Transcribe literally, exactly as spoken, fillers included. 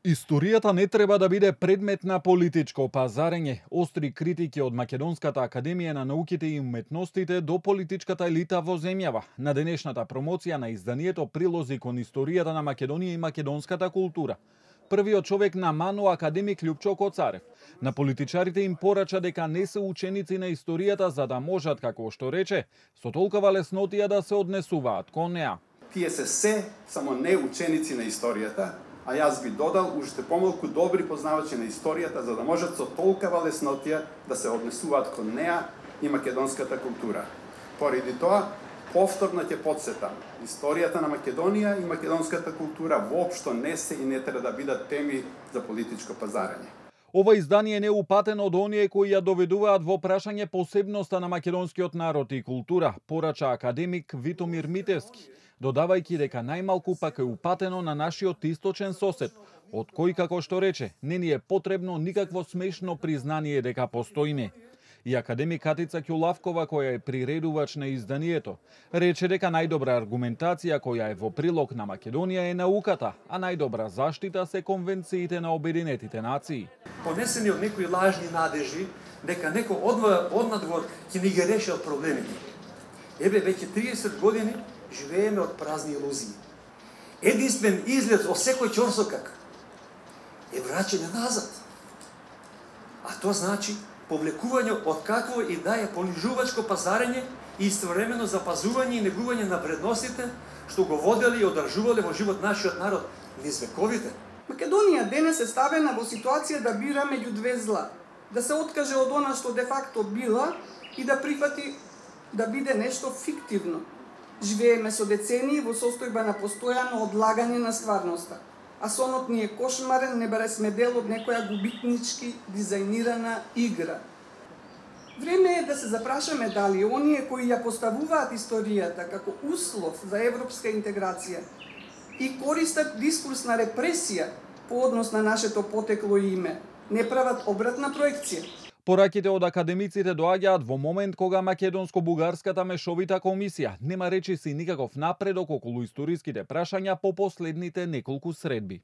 Историјата не треба да биде предмет на политичко пазарење. Остри критики од Македонската академија на науките и уметностите до политичката елита во земјава на денешната промоција на изданието Прилози кон историјата на Македонија и македонската култура. Првиот човек на МАНУ, академик Љупчо Коцарев, на политичарите им порача дека не се ученици на историјата за да можат, како што рече, со толкова леснотија да се однесуваат кон неа. Тие се се само не ученици на историјата, а јас би додал уште помалку добри познавачи на историјата за да можат со толкова леснотија да се однесуваат кон неа и македонската култура. Поради тоа, повторно ќе потсетам, историјата на Македонија и македонската култура воопшто не се и не треба да бидат теми за политичко пазарење. Ова издание не е упатено од оние кои ја доведуваат во прашање посебноста на македонскиот народ и култура, порача академик Витомир Митевски, додавајќи дека најмалку пак е упатено на нашиот источен сосед, од кој, како што рече, не ни е потребно никакво смешно признание дека постоиме. И академик Катица Ќулавкова, која е приредувач на изданието, рече дека најдобра аргументација која е во прилог на Македонија е науката, а најдобра заштита се конвенциите на Обединетите нации. Понесени од некои лажни надежи дека некој однадвор ќе ни ги решил проблемите. Еве веќе триесет години живееме од празни илузии. Единствен излез од секој ќорсокак е враќање назад. А тоа значи повлекување од какво и да е понижувачко пазарење и истовремено запазување и негување на вредностите што го водели и одржувале во живот нашиот народ низ вековите. Македонија денес е ставена во ситуација да бира меѓу две зла, да се откаже од она што де факто била и да прифати да биде нешто фиктивно. Живееме со децении во состојба на постојано одлагање на стварноста, а сонот ни е кошмарен, не баре сме дел од некоја губитнички дизајнирана игра. Време е да се запрашаме дали оние кои ја поставуваат историјата како услов за европска интеграција и користат дискурс на репресија по однос на нашето потекло и име, не прават обратна проекција. Пораките од академиците доаѓаат во момент кога македонско-бугарската мешовита комисија нема речиси никаков напредок околу историските прашања по последните неколку средби.